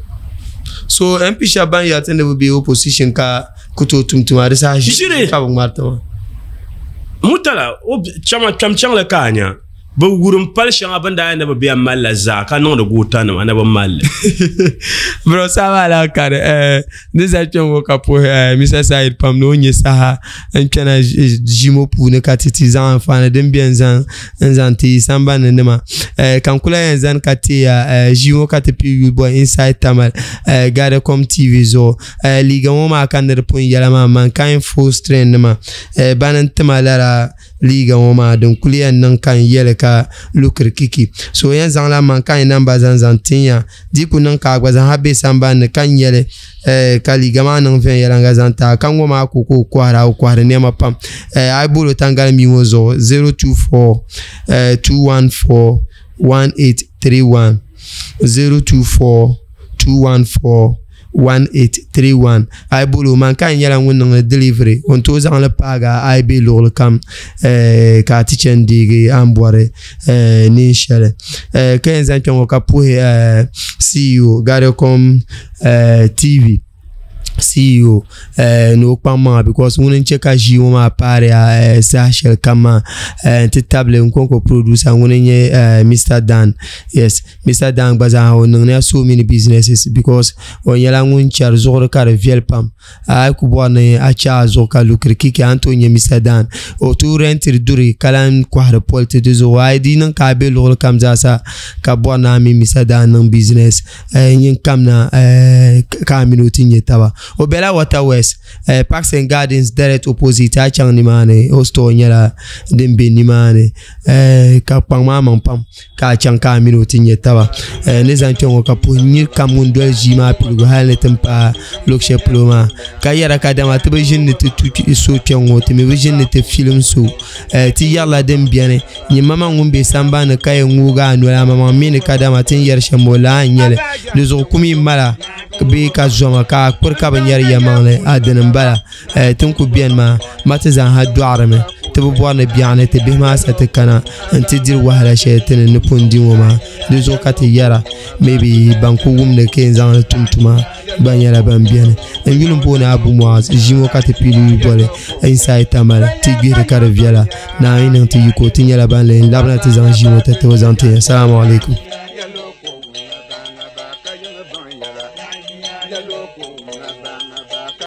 So M P shɛba ban yɛri ti ni bi be opposition ka ku tooi tum tuma di saha ʒiri ka bi ŋmariti maa. Mutala o chama kpɛm chaŋli ka a nya bi wurim pali shɛŋa bin daa yɛn ni bi bɛn mali la zaa ka niŋdi goota nima ni bi mali li. Bro saha maa kari ni za kpɛŋ ŋɔ ka puhi Mister Said pam ni o nyɛ saha n kpɛna ʒimo puuni ka ti ti zaŋ anfaani din bɛ n zaŋ n zaŋ ti sambani nima ka n kula yɛn zani ka teeya ʒimo ka ti pii yuli bɔ Inside Tamale Gadacom T V zuɣu liiga ŋɔ maa ka ni di pun yɛla maa Mankind full strain nima bani n tima lala liiga ŋɔ maa din kuli yɛn niŋ ka n yɛli ka lukiri kiki so yɛn zaŋla Mankind namba zaŋ zaŋ tinya di ku niŋ ka a gba zaŋ ha bɛ sambani ka n yɛli ka liiga maa niŋ viɛnyɛlinga zaŋ ti a ka ŋɔ maa ko ka o kɔhira o kɔhiri nɛma pam a yi boli o tangali mii ŋɔ zuɣu zero two four two one four one eight three one zero two four two one four one eight three one a yi boli o Mankind nyɛla ŋun niŋdi delivery o ni tooi zaŋli paagi a yi bɛ luɣuli kam ka a ti chɛni deegi a ni bɔri neen shɛli ka yɛn zaŋ kpɛ ŋɔ ka puhi C E O Gadacom T V C E O ni o kpaŋ maŋa because ŋuni n chɛ ka ʒii ŋɔ maa paari a saha shɛli kam maa n ti tabili n konko producer ŋuni n nyɛ Mister Dan. Yes, Mister Dan gba zaa o niŋdiya so many businesses because o nyɛla ŋun chɛri zuɣuri ka di viɛli pam a yi ku bɔri ni a chɛ a zuɣu ka lukiri kiki a ni tooi nyɛ Mister Dan o tooi rentiri duri ka lan kɔhiri politi di zuɣu a yi di niŋ ka a bɛ luɣuli kam zaa sa ka bɔri ni a mini Mister Dan niŋ business nyin kamina ka a mini o ti nyɛ taba. O bela Water West Parks and Gardens direct opposite a chaŋ nimaani o store nyɛla din be nimaani ka kpaŋ maa maŋ pam ka a chaŋ ka a mini o ti nyɛ taba ni zaŋ kpɛ ŋɔ ka puhi nyiri kam ŋun doli ʒii maa piligu hali ni ti paai luɣu shɛli polo maa ka yɛra ka dama ti bi ʒini ni ti tu so kpɛ ŋɔ ti mi bi ʒini ni ti filim so ti yɛrila din biɛni nyɛ mama ŋun be sambani ka yɛn ŋoogi a noli a mamaŋ mi ni ka dama ti ni yɛri shɛm o laa n nyɛli di zuɣu kum yi mala bee ka zoma ka a kpiri ka bi nyɛri yɛmaŋli a dini n bala tin ku biɛni maa ma ti zaŋ ha dɔɣirimi ti bi bɔri ni biɛɣuni ti bihi maa sa ti kana n ti diri wahala shɛli ti ni ni pun di ŋɔ maa di zuɣu ka ti yɛra maybe ban ku wumdi ka yɛn zaŋli tum tuma gba nyɛla ban biɛni n yuli n booni Abu Muaz ʒimo ka ti piili yuli boli Inside Tamale ti gbihiri ka di viɛla Naawuni niŋ ti yiko ti nyɛla ban lee labina ti zaŋ ʒimo ti tibi zaŋ ti ya. Assalamu alaikum. Yellow,